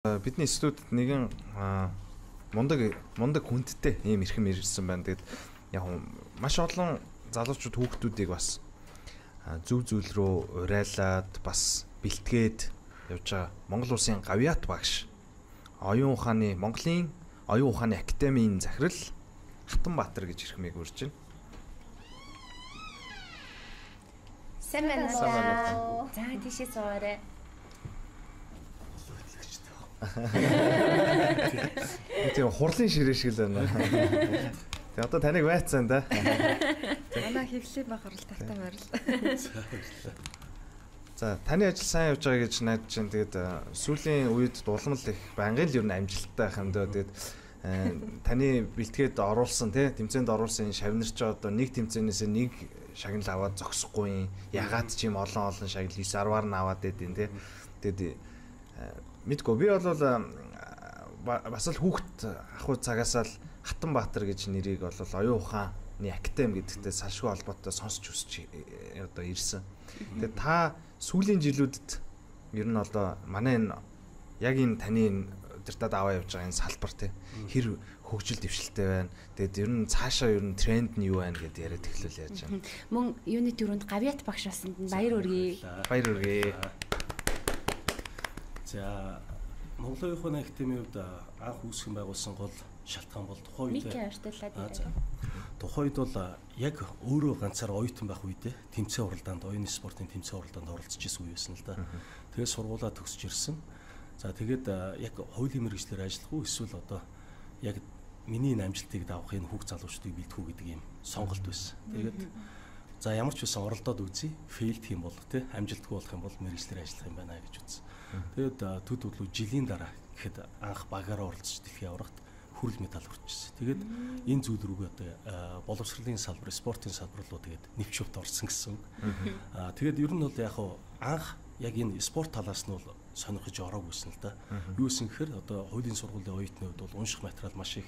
Бидний студид нэгэн мундаг хүндтэй ийм эрхэм ирсэн байна. Тэгээд яг маш олон залуучууд хүүхдүүдийг бас зөв зүйл рүү урайлаад бас бэлтгээд явж байгаа Монгол Улсын Гавьяат багш Монголын оюун ухааны академийн захирал Хатанбаатар гэж ирхмийг урьж байна. Сайн байна уу? За тийшээ суугаарай. Тийм хурлын ширээ шиг л байна. Тэгээ одоо таныг байцсан да. Манай хэвлээ баг оролттой байрал. За таны ажил сайн явж байгаа гэж найдаж байна. Тэгээд сүүлийн үед дулмал их байнгын л ер нь амжилттай байх юм даа. Тэгээд таны бэлтгээд оруулсан тэмцээнд оруулсан шавнарч одоо нэг тэмцээнээс нэг шагнал аваад зогсохгүй. Ягаад ч юм олон шагнал 9-10-аар нь аваад байдیں۔ Тэгээд мэдгүй би бол бас л хүүхд ахуй цагаас л Хатанбаатар гэж нэрийг бол оюун ухааны академи гэдэгтэй салшгүй холбоотой сонсч өсч одоо ирсэн. Тэгээд та сүүлийн жилүүдэд ер нь одоо манай энэ яг энэ таны өдөртөд аваа явж байгаа энэ салбар хэр хөгжил дэвшилтэй байна. Тэгээд ер нь цаашаа ер нь тренд нь юу байна гэдээ яриад эхлүүл яаж байна. Мөн юуны төрөнд Гавьяат багш басанд баяр хүргэе. Баяр хүргэе. За Монголын оюун ухааны академийн хувьд анх үүсгэн байгуулсан гол шалтгаан бол тухайн үед бол яг өөрөө ганцаар оюутан байх үедээ тэмцээн уралдаанд оюуны спортын тэмцээн уралдаанд оролцож исэн үе байсан л да. Тэгээд сургуулаа төгсөж ирсэн. За тэгээд яг хуулийн мэргэжлэр ажиллах уу эсвэл одоо яг миний энэ амжилтыг давах энэ хүүхд залуучдыг бэлтгэх үү гэдэг ийм сонголт байсан. Тэгээд за ямар ч байсан оролдоод үзье, фейлд хийм бол амжилтгүй болох юм бол мэргэжлэр ажиллах юм байна гэж үзсэн. Тэгээд төд төдлөө жилийн дараа гэхэд анх багаараа оролцож дэлхийн аврагт хүрэл медаль хүрчихсэн. Тэгээд энэ зүйл рүүгээ одоо боловсролын салбар, спортын салбар руу тэгээд нэвчвт орсон гэсэн. Тэгээд ер нь бол яг анх яг энэ спорт талаас нь бол сонирхож ороогүйсэн л да. Юу гэсэн гэхээр одоо хуулийн сургуулийн оюутны хувьд бол унших материал маш их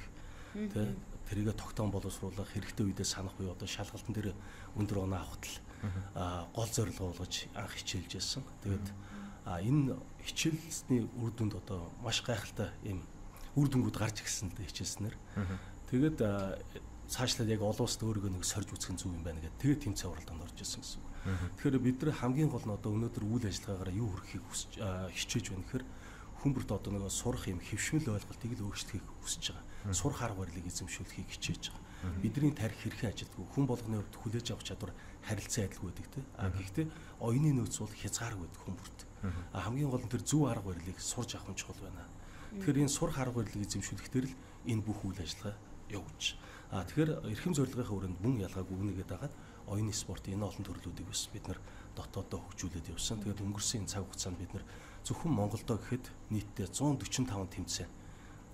тэрийгэ тогтоон боловсруулах хэрэгтэй үедээ санах буюу одоо шалгалтын дээр өндөр оноо авахт л гол зорилго болгож анх хичээлж байсан. Тэгээд энэ хичээлсний үр дүнд одоо маш гайхалтай юм үр дүнгууд гарч ирсэн л дээ хичээлснээр. Тэгээд цаашлаад яг олон улсад өөрийгөө нэг сорж үзэх зүг юм байна гэдэг. Тэгээд тэмцээн уралдаанд орж ирсэн гэсэн үг. Тэгэхээр бид нар хамгийн гол нь одоо өнөөдөр үйл ажиллагаагаар юу хүрэхийг хичээж байна гэхээр хүмүүрт одоо нэг сурах юм хэвшмэл ойлголтыг л өөрчлөхийг хүсэж байгаа. Сурах арга барилыг эзэмшүүлэхийг хичээж байгаа. Бидний тарих хэрхэн ажилтгүй хүн болгоны хувьд хүлээж авах чадвар харилцан адилгүй байдаг те. Гэхдээ оюуны нөөц бол хязгааргүй байдаг хүмүүрт. Хамгийн гол нь тэр зөв арга барилыг сурж авах нь чухал байна. Тэгэхээр энэ сурах арга барилыг эзэмшүүлэхдээ л энэ бүх үйл ажиллагаа явж. Тэгэхээр эрхэм зорилгынхаа өрөөнд мөн ялгаагүй үнэгээд дагаад оюуны спортын энэ олон төрлүүдийг бас бид нар дотооддоо хөгжүүлээд явсан. Тэгээд өнгөрсөн цаг хугацаанд бид нар зөвхөн Монголдоо гэхэд нийтдээ 145 тэмцээн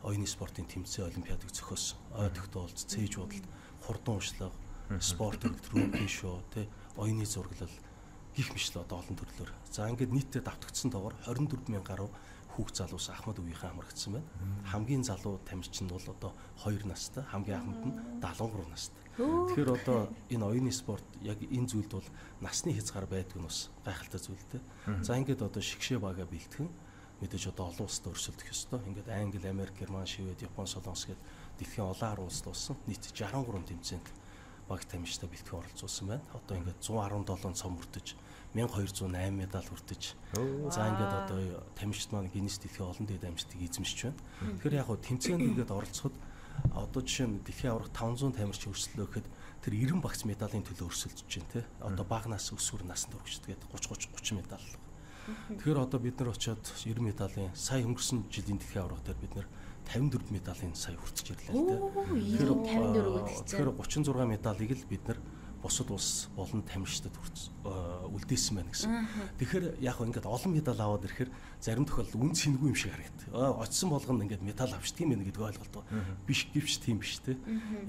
оюуны спортын тэмцээн олимпиадыг зохиосон. Ойдогтой уулз, цээж худалд, хурдан уншлага, спорт рүүкийн шоу, оюуны зураглал гих мэтлээ одоо олон төрлөөр. За ингээд нийтдээ давтагдсан доогоор 24,000 гаруй хүүхд залуус Ахмад өвгийнхээ хамрагдсан байна. Хамгийн залуу тамирчин нь бол одоо 2 настай, хамгийн ахмад нь 73 настай. Тэгэхээр одоо энэ оюуны спорт яг энэ зүйлд бол насны хязгаар байдгүй нь бас гайхалтай зүйлтэй. За ингээд одоо шигшээ бага бэлтгэн мэдээж одоо олон улсад өрсөлдөх ёстой. Ингээд Англи, Америк, Герман, Швед, Япон, Солонгос гээд дэлхийн олон арга улсад болсон нийт 63 тэмцээнд баг тамирчтай бэлтгэн оролцуулсан байна. Одоо ингээд 117 цом хүртэж 1208 медаль хүртэж. За ингээд одоо тамирчид маань Гиннес дэлхийн олон дээд амжилтыг эзэмшиж байна. Тэгэхээр яг хөө тэмцээнд ингээд оролцоход одоо жишээ нь дэлхийн аврах 500 тамирч өрсөлдөө гэхэд тэр 90 багц медалийн төлөө өрсөлдөж байна те. Одоо бага нас өсвөр наснд хүрчдэг 30 медаль. Тэгэхээр одоо бид нар очиод 90 медалийн сая өнгөрсөн жилийн дэлхийн аврах дээр бид нар 54 медалийн сая хүртэж ирлээ л те. Тэгэхээр 36 медалийг л бид нар бусад улс болон тамирчдад үлдээсэн байна гэсэн. Тэгэхээр яг ингээд олон медаль аваад ирэхээр зарим тохиолдолд үн цэнгүй юм шиг харагдав. Очсон болгоно ингээд медаль авчдаг юм байна гэдэг ойлголт биш гэвч тийм биш те.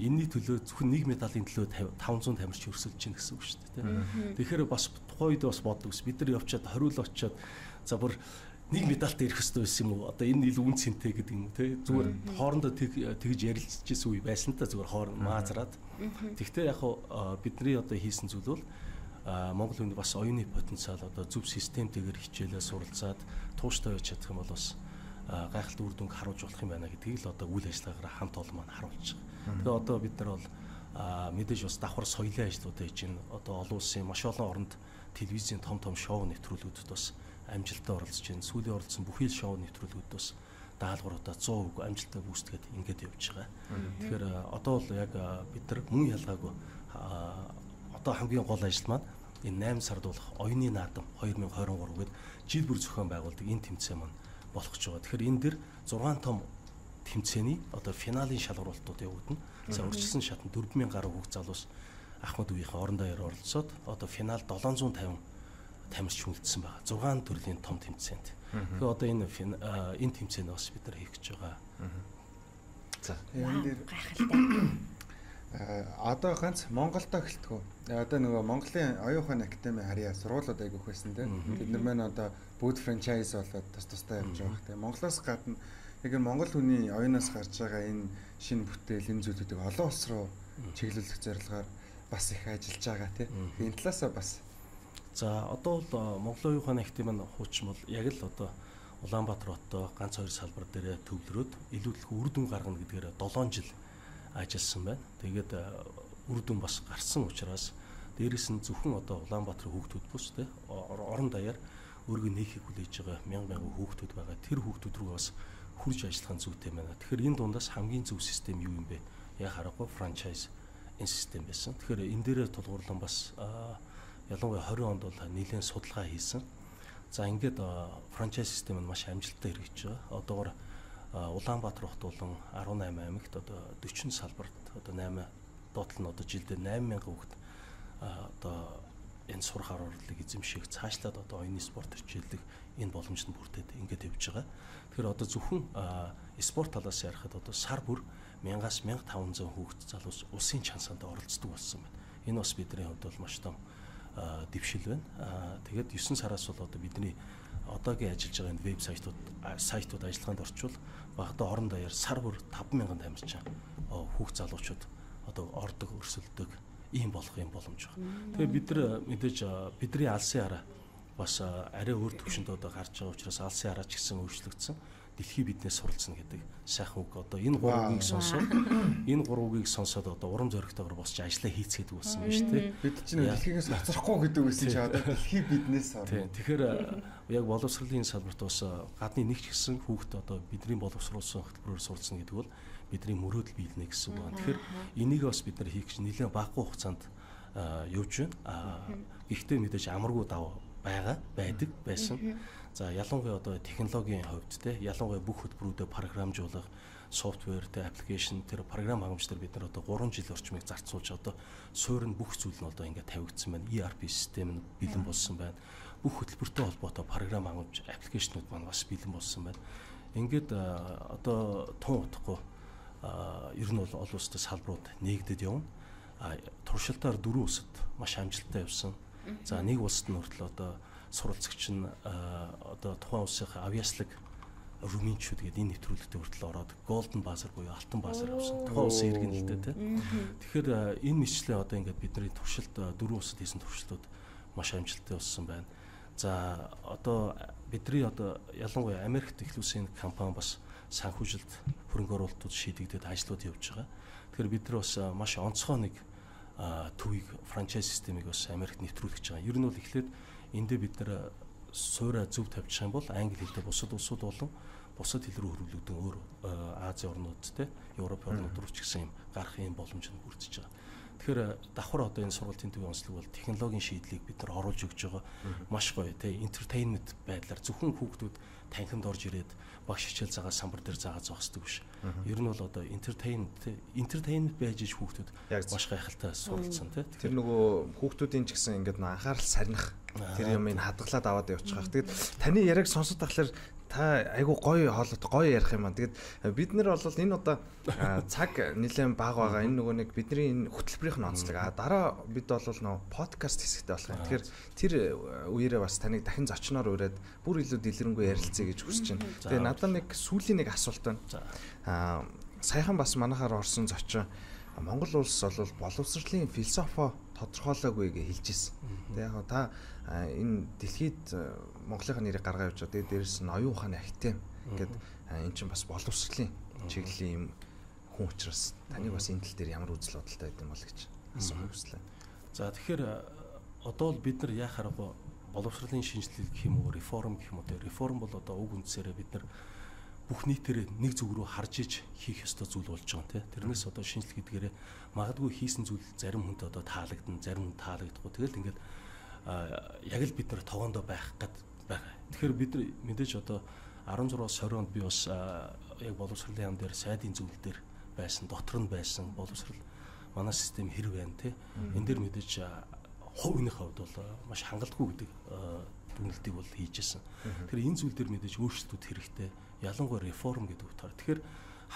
Энэний төлөө зөвхөн нэг медалийн төлөө 500 тамирч өрсөлдөж чинь гэсэн үг шүү дээ те. Тэгэхээр бас тухайн үед бас боддог ус бид нар явчаад хориул очиод за бүр нэг медальтай ирэх хэрэгтэй байсан юм уу? Одоо энэ ил үн цэнтэй гэдэг юм те. Зүгээр хоорондоо тэгж ярилцчихсэн үе байсан та зүгээр хооронд маазраад. Тэгвэл яг бидний одоо хийсэн зүйл бол Монгол хүнд бас оюуны потенциал одоо зөв системтэйгээр хичээлээ суралцаад тууштай байж чадах юм бол бас гайхалтай үр дүнг харуулж болох юм байна гэдгийг л одоо үйл ажиллагаагаар хамт олон маань харуулж байгаа. Тэгээ одоо бид нар бол мэдээж бас давхар соёлын ажлуудаа хийж байна. Одоо олон улсын маш олон оронд телевизийн том шоу нэвтрүүлгүүдэд бас амжилттай оролцож байна. Сүүлийн оролцсон бүхий л шоу нэвтрүүлгүүд бас даалгавруудаа 100% амжилттай гүйцэтгээд ингээд явж байгаа. Тэгэхээр одоо бол яг бид нар мөн ялгаагүй одоо хамгийн гол ажил маань энэ 8 сард болох оюуны наадам 2023 гээд жил бүр зохион байгуулдаг энэ тэмцээн маань болох гэж байгаа. Тэгэхээр энэ дэр 6 том тэмцээний одоо финалийн шалгуултууд явагдана. За урьдчилсан шатнд 4000 гаруй хүүхд залуус Ахмад үеийнхээ орон даяар оролцоод одоо финал 750 тамирч хүндсэн байгаа. 6 төрлийн том тэмцээнд. Тэгэхээр одоо энэ тэмцээнд бас бид нар хийх гэж байгаа. За энэ дээр гайхалтай. Одоо ганц Монголдо эхэлтгүү. Одоо нөгөө Монголын оюун ухааны академи харьяа сургуулиуд айгүйх байсан тийм. Бид нар маань одоо бүгд франчайз болоод тусдаа явж байгаа. Тийм Монголоос гадна яг Монгол хүний оюунаас гарч байгаа энэ шинэ бүтээл энэ зүйлүүдийг олон улс руу чиглүүлэх зорилгоор бас их ажиллаж байгаа тийм. Энэ талаасаа бас за одоо бол Монголын оюун ухааны академи маань хуучин бол яг л одоо Улаанбаатар хоттой ганц 2 салбар дээр төвлөрөөд илүүдэлгүй үр дүн гаргана гэдгээр 7 жил ажилласан байна. Тэгээд үр дүн бас гарсан учраас дээрэс нь зөвхөн одоо Улаанбаатарын хүүхдүүд бус те орон даяар өөргөө нээхийг хүлээж байгаа мянган хүүхдүүд байгаа. Тэр хүүхдүүд рүү бас хурж ажиллах зүйтэй байна. Тэгэхээр энэ дундаас хамгийн зөв систем юу юм бэ? Яг харахгүй франчайз энэ систем байсан. Тэгэхээр энэ дээрээ тулгуурлан бас ялангуяа 20 онд бол нэлээд судалгаа хийсэн. За ингээд франчайз систем нь маш амжилттай хэрэгжиж байгаа. Одоогоор Улаанбаатар хот болон 18 аймагт одоо 40 салбарт одоо 8 доотлол нь одоо жилдээ 8000 хүүхэд одоо энэ сурах орлогыг эзэмших цаашлаад одоо оюуны спорт хичээллэх энэ боломжтой бүрдээд ингээд явж байгаа. Тэгэхээр одоо зөвхөн спорт талаас ярихад одоо сар бүр 1000-аас 1500 хүүхэд залуус улсын чансаанд оролцдог болсон байна. Энэ бас бидний хувьд бол маш том дэвшил байна. Тэгээд 9 сараас бол одоо бидний одоогийн ажиллаж байгаа энэ веб сайтууд ажиллагаанд орчвол багада орон даяар сар бүр 5000 тамирчин хүүхд залуучууд одоо ордог өрсөлдөг ийм болох юм боломж байна. Тэгээ бид нар мэдээж бидний алсын хараа бас арай өөр төвшөнд одоо гарч байгаа учраас алсын хараа ч гэсэн өөрчлөгдсөн. Дэлхий биднээс суралцна гэдэг сайхан үг. Одоо энэ 3 үгийг сонсоод одоо урам зоригтойгоор босч ажиллаа хийцгээдэг болсон байна шүү дээ. Бид чинь дэлхийгээс хоцрохгүй гэдэг үсэн чи одоо дэлхий биднээс орно. Тэгэхээр яг боловсролын салбарт бас гадны нэг ч гэсэн хүүхэд одоо бидний боловсруулсан хөтөлбөрөөр суралцна гэдэг бол бидний мөрөөдөл биелнэ гэсэн үг байна. Тэгэхээр энийг бас бид нар хийх гэж нэлээд багагүй хугацаанд явж байна. Гэхдээ мэдээж амаргүй даваа байсан. За ялангуяа одоо технологийн хувьд те ялангуяа бүх хөтөлбөрүүдэд програмжуулах, софтвер, те аппликейшн тэр програм хангамжтар бид нар одоо 3 жил орчмыг зарцуулж одоо суурь нь бүх зүйл нь одоо ингээд тавигдсан байна. ERP систем нь бэлэн болсон байна. Бүх хөтөлбөртэй холбоотой програм хангамж, аппликейшнуд маань бас бэлэн болсон байна. Ингээд одоо тун утгагүй ер нь бол олон улстай салбарууд нээгдэд явна. Туршилтаар 4 улсад маш амжилттай явсан. За нэг улсад нь хүртэл одоо суралцагч нь одоо тухайн улсын авиаслаг румынчууд гэдэг энэ нэвтрүүлэгтээ хүртэл ороод голден базар буюу алтан базар авсан. Тухайн улсын иргэн л дээ. Тэгэхээр энэ мэтчлээ одоо ингээд бидний туршилт 4 улсад хийсэн туршилтууд маш амжилттай болсон байна. За одоо бидний одоо ялангуяа Америкт их улсын компани бас санхүүжилт хөрөнгө оруулалтууд шийдэгдээд ажлууд явж байгаа. Тэгэхээр бид нар бас маш онцгой нэг төвийг франчайз системийг бас Америкт нэвтрүүлж байгаа. Ер нь бол эхлээд эндээ бид нар суурь зөв тавьчих юм бол англи хэлтэй бусад улсууд болон бусад хэл рүү хөрвүүлэгдэн өөр Азийн орнууд те Европ орнууд руу ч гэсэн юм гарах юм боломж нь бүрдэж байгаа. Тэгэхээр давхар одоо энэ сургуулийн төвийн онцлог бол технологийн шийдлийг бид нар оруулж өгч байгаа. Маш гоё те entertainment байдлаар зөвхөн хүүхдүүд танхимд орж ирээд багш хичээл загаа самбар дээр заагаа зоох хэрэгтэй биш. Ер нь бол одоо entertainment байж иж хүүхдүүд маш гайхалтай суралцсан те. Тэр нөгөө хүүхдүүдийн ч гэсэн ингээд анхаарал сарних тэр юмыг хадгалаад аваад явчих гэх. Тэгэд таны яриаг сонсоод тахлаар та айгу гоё хоолот гоё ярих юм аа. Тэгэд бид нар бол энэ одоо цаг нэлээд бага байгаа. Энэ нөгөө нэг бидний энэ хөтөлбөрийнх нь онцлог. Дараа бид бол нөгөө подкаст хэсэгтэй болох юм. Тэгэхээр тэр үеэрээ бас таныг дахин зочноор ураад бүр илүү дэлгэрэнгүй ярилцъя гэж хүсэж байна. Тэгээ надад нэг сүүлийн нэг асуулт байна. Саяхан бас манайхаар орсон зочин Монгол улс бол боловсролын философи тодорхойлоогүй гэж хэлж ирсэн. Тэгээ яг та энэ дэлхийд Монголынхаа нэрийг гаргаа явж байгаа. Тэгээ дээрэс нь оюун ухааны академи гэдэг энэ чинь бас боловсролын чиглэлийн юм хүн учраас таныг бас энэ тал дээр ямар үзэл бодолтой байд юм бол гэж асуух хүслээ. За тэгэхээр одоо л бид нар яах аргагүй боловсролын шинжилэл гэх юм уу, реформ гэх юм уу. Реформ бол одоо уг үндсээрээ бид нар бүх нийтээр нэг зүг рүү харж иж хийх ёстой зүйл болж байгаа тийм. Тэрнээс одоо шинжилгээ гэдгээрээ магадгүй хийсэн зүйл зарим хүнд одоо таалагдана, зарим хүн таалагдахгүй. Тэгэл ингээд яг л бид нар тогоондоо байх гээд байгаа. Тэгэхээр бид нар мэдээж одоо 16-20 онд би бас яг боловсролын яам дээр сайдын зүйл дээр байсан, дотор нь байсан боловсрол манай систем хэрэг байна тий. Энэ дээр мэдээж хувийн хувьд бол маш хангалтгүй гэдэг дүгнэлтийг бол хийжсэн. Тэгэхээр энэ зүйл дээр мэдээж өөрчлөлтүүд хэрэгтэй. Ялангуяа реформ гэдэг утгаар. Тэгэхээр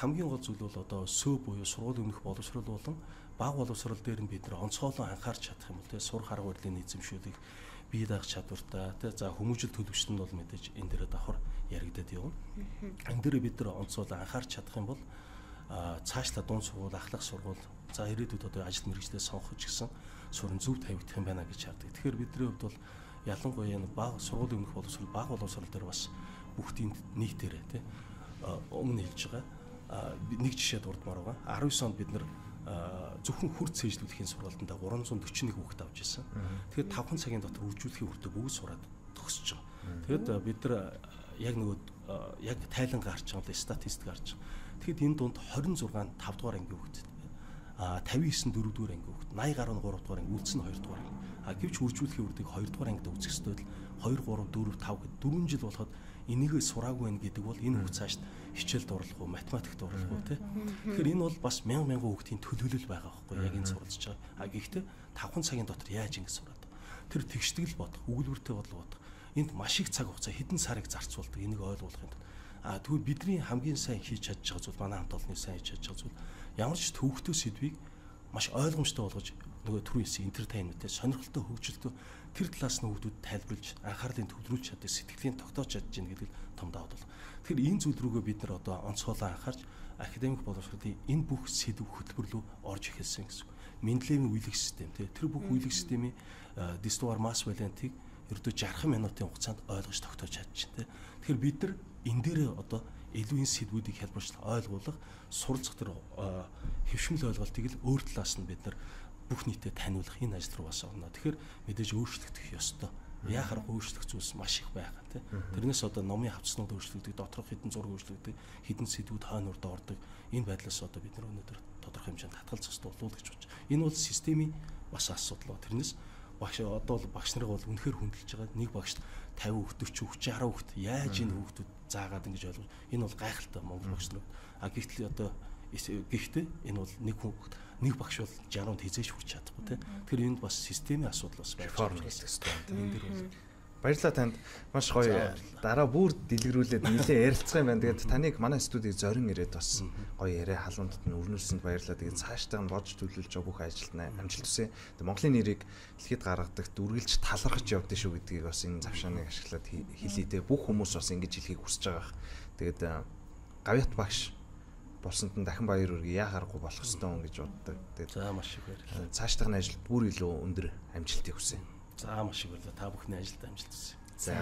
хамгийн гол зүйл бол одоо СӨ буюу сургуулийн өмнөх боловсрол болон бага боловсрол дээр нь бид нар онцгойлон анхаарч чадах юм бол тий сурах арга барилын эзэмшүүлийг бие даах чадвартай тий за хүмүүжил төлөвчт нь бол мэдээж энэ дээр давхар яригдаад явна. Энэ дээр бид нар онцгойлон анхаарч чадах юм бол цаашлаа дунд сургууль, ахлах сургууль за ирээдүйд одоо ажил мэргэжлээ сонгох гэсэн сурын зөв тавигдах юм байна гэж хардаг. Тэгэхээр бидний хувьд бол ялангуяа энэ бага сургуулийн өмнөх боловсрол, бага боловсрол дээр бас бүгдийн нийтээрээ тий өмнө хэлж байгаа нэг жишээ дурдмаар байгаа. 19 онд бид нар зөвхөн хүр цээжлүүлэхийн сургалтанд 341 хүүхэд авч ирсэн. Тэгэхээр 5 цагийн дотор үржүүлэхийн хүртэ бүгд сураад төгсөж байгаа. Тэгэд бид нар яг нөгөө яг тайлан гарч байгаа статистик гарч байгаа. Тэгэхэд энэ дунд 26 5 дугаар ангийн хүүхэд 59 4 дугаар ангийн хүүхэд 80 гаруй 3 дугаар анги үлдсэн 2 дугаар анги. Гэвч үржүүлэхийн хүртэг 2 дугаар ангид үзэх ёстой л 2 3 4 5 гэд 4 жил болоход энийгээ сураагүй байх гэдэг бол энэ хүүхд цаашд хичээлд орлох уу, математикт орлох уу тий. Тэгэхээр энэ бол бас мянган хүүхдийн төлөвлөл байгаа байхгүй яг энэ суралцж байгаа. Гэхдээ 5 цагийн дотор яаж ингэ сураад. Тэр тэгшдэг л бодох, өгүүлбэртэй бодлого бодох. Энд маш их цаг хугацаа хэдэн сарыг зарцуулдаг энийг ойлгуулахын тулд. Тэгвэл бидний хамгийн сайн хийж чадж байгаа зүйл манай хамт олонны сайн хийж чадж байгаа зүйл ямар ч төвөгтэй сэдвийг маш ойлгомжтой болгож нөгөө түрүү хэлсэн entertainment-тэй сонирхолтой хөгжилтөө тэр талаас нь хүүхдүүд тайлбарлаж анхаарлыг төвлөрүүлж чаддаг сэтгэлийн тогтоож чадж гин гэдэг том давуу тал. Тэгэхээр энэ зүйл рүүгээ бид нар одоо онцгойлон анхаарч академик боловсролын энэ бүх сэдв хөтөлбөр рүү орж эхэлсэн гэсэн. Менделеевийн үеийг систем тэр бүх үеийг системийн дистуар масс валентийг ердөө 60 минутын хугацаанд ойлгож тогтоож чадчихжээ. Тэгэхээр бид нар энэ дээрээ одоо илүү энэ сэдвүүдийг хэлбэрчлэн ойлгуулах суралцах тэр хэвшмэл ойлголтыг л өөр талаас нь бид нар бүх нийтэд таниулах энэ ажил руу бас орно. Тэгэхээр мэдээж өөрчлөгдөх ёстой. Яахаар өөрчлөх зүйлс маш их байгаа тийм. Тэрнээс одоо номын хавцснууд өөрчлөгдөж, доторх хэдэн зураг өөрчлөгдөж, хэдэн сэдвүүд хойно урд ордог. Энэ байдлаас одоо бид нар өнөөдөр тодорхой хэмжээнд татгалзах ёстой болов гэж бодож байна. Энэ бол системийн бас асуудал. Тэрнээс багш одоо бол багш нар бол үнэхээр хүндэлж байгаа. Нэг багшд 50 40 60 хүүхэд яаж энэ хүүхдүүд заагаад ингэж ойлгож. Энэ бол гайхалтай Монгол багш нар. Гэхдээ одоо гэхдээ энэ бол нэг багш бол 60-нд хизээж хүрч чадахгүй тийм. Тэгэхээр энд бас системийн асуудал бас реформ хийх ёстой. Энэ дэр бол баярлалаа танд маш гоё дараа бүр дэлгэрүүлээд нэлээд ярилцсан юм байна. Тэгээд таныг манай студид зорин ирээд бас гоё яриа халуундад нь өрнүүлсэнд баярлалаа. Тэгээд цаашдаа нь бодж төлөвлөж байгаа бүх ажилд амжилт хүсье. Тэгээд Монголын нэрийг дэлхийд гаргадаг дүргэлж талархаж явдсан шүү гэдгийг бас энэ завшааныг ашиглаад хэлийдээ бүх хүмүүс бас ингэж хэлхийг хүсэж байгаа. Тэгээд Гавьят багш болсонд нь дахин баяр хүргэе. Яахааргүй болох ёстой юм гэж боддог. Тэгээд за маш их баярлалаа. Цаашдаа ажил бүр илүү өндөр амжилтыг хүсье. За маш их баярлалаа. Та бүхний ажилд амжилт хүсье. За